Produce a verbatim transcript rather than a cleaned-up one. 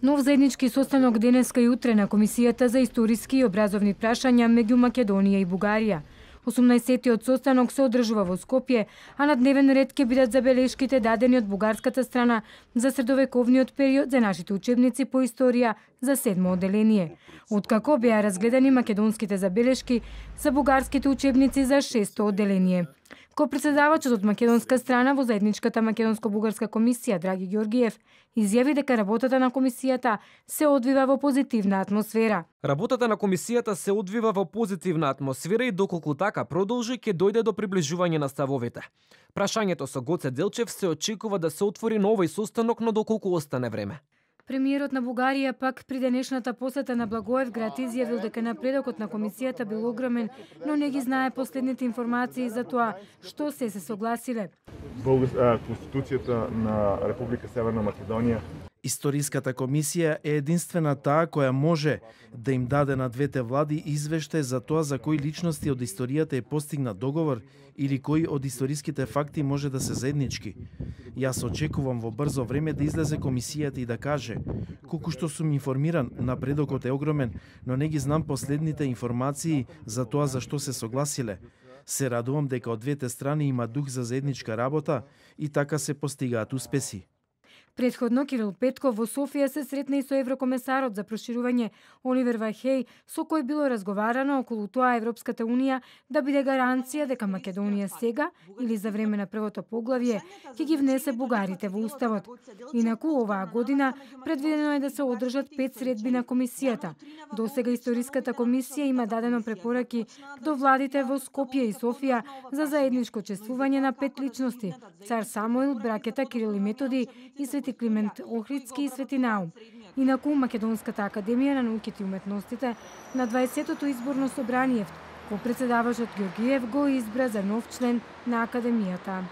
Нов заеднички состанок денеска и утре на Комисијата за историски и образовни прашања меѓу Македонија и Бугарија. осумнаесеттиот состанок се одржува во Скопје, а на дневен ред ќе бидат забелешките дадени од бугарската страна за средовековниот период за нашите учебници по историја за седмо одделение. Откако беа разгледани македонските забелешки за бугарските учебници за шесто одделение. Ко-председавачот од македонска страна во заедничката македонско-бугарска комисија Драги Ѓоргиев изјави дека работата на комисијата се одвива во позитивна атмосфера. Работата на комисијата се одвива во позитивна атмосфера и доколку така продолжи ќе дојде до приближување на ставовите. Прашањето со Гоце Делчев се очекува да се отвори на овој состанок, но доколку остане време. Премиерот на Бугарија пак при денешната посета на Благоевград изјавил дека напредокот на комисијата бил огромен, но не ги знае последните информации за тоа што се се согласиле. Конституцијата на Република Северна Македонија. Историската комисија е единствена таа која може да им даде на двете влади извештај за тоа за кои личности од историјата е постигнат договор или кои од историските факти може да се заеднички. Јас очекувам во брзо време да излезе комисијата и да каже: колку што сум информиран, напредокот е огромен, но не ги знам последните информации за тоа за што се согласиле. Се радувам дека од двете страни има дух за заедничка работа и така се постигаат успеси. Предходно Кирил Петков во Софија се сретна и со еврокомесарот за проширување Оливер Вархеј, со кој било разговарано околу тоа Европската унија да биде гаранција дека Македонија сега или за време на првото поглавје ќе ги внесе бугарите во уставот. Инаку оваа година предвидено е да се одржат пет средби на комисијата. Досега историската комисија има дадено препораки до владите во Скопје и Софија за заедничко чествување на пет личности: цар Самуил, браќата Кирил и Методи и Свети Климент Охридски и Свети Наум. Инаку Македонската академија на науките и уметностите на дваесеттото изборно собрание, ко-председавачот Ѓоргиев го избра за нов член на академијата.